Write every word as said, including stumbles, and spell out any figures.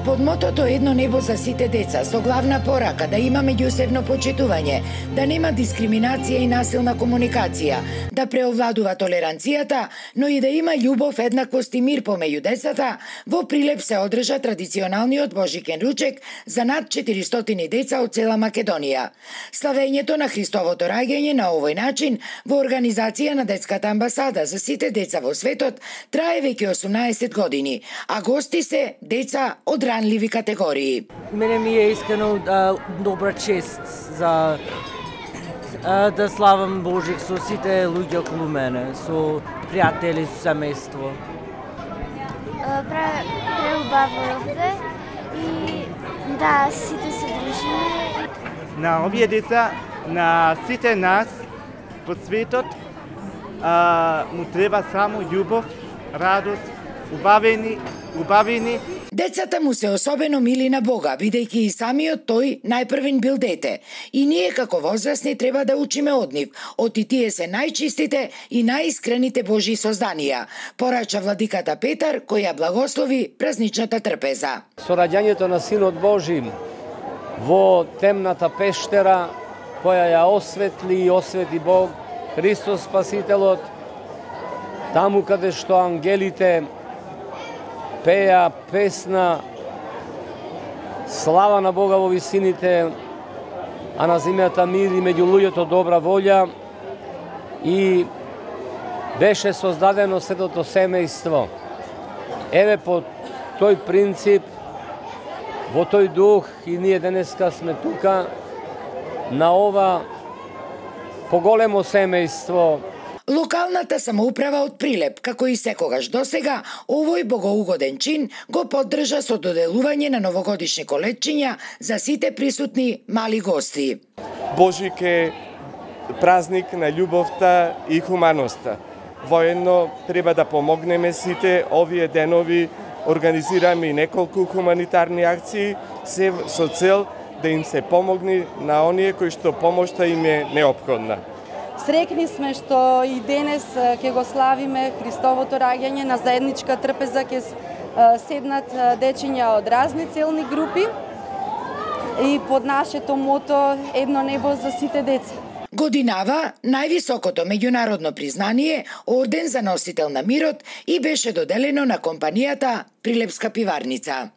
Под мотото Едно небо за сите деца, со главна порака да има меѓусебно почитување, да нема дискриминација и насилна комуникација, да преовладува толеранцијата, но и да има љубов, еднаквост и мир помеѓу децата, во Прилеп се одржа традиционалниот Божикен ручек за над четиристотини деца од цела Македонија. Славењето на Христовото раѓање на овој начин во организација на Детската амбасада за сите деца во светот трае веќе осумнаесет години, а гости се деца од ранливи категории. Мене ми е искрено а, добра чест за а, да славам Божик со сите луѓе околу мене, со пријатели, со семејство. Преубаво овде и да, сите се дружиме. На овие деца, на сите нас по светот, а, му треба само љубов, радост, убавени, убавени. Децата му се особено мили на Бога, бидејќи и самиот тој најпрвен бил дете. И ние како возрастни треба да учиме од нив, оти тие се најчистите и најискрените Божји созданија, порача владиката Петар, кој ја благослови празничната трпеза. Со раѓањето на Синот Божи во темната пештера, која ја осветли и освети Бог, Христос Спасителот, таму каде што ангелите пеа песна слава на Бога во висините, а на земјата мир и меѓу луѓето добра волја, и беше создадено светото семејство. Еве по тој принцип, во тој дух и ние денеска сме тука на ова поголемо семејство. Локалната самоуправа од Прилеп, како и секогаш досега, овој богоугоден чин го поддржа со доделување на новогодишни колечиња за сите присутни мали гости. Божик е празник на љубовта и хуманоста. Воедно треба да помогнеме сите овие денови, организираме и неколку хуманитарни акции, се со цел да им се помогне на оние кои што помошта им е неопходна. Среќни сме што и денес ќе го славиме Христовото раѓање на заедничка трпеза, ќе седнат дечиња од разни целни групи и под нашето мото Едно небо за сите деца. Годинава највисокото меѓународно признание, орден за носител на мирот, и беше доделено на компанијата Прилепска пиварница.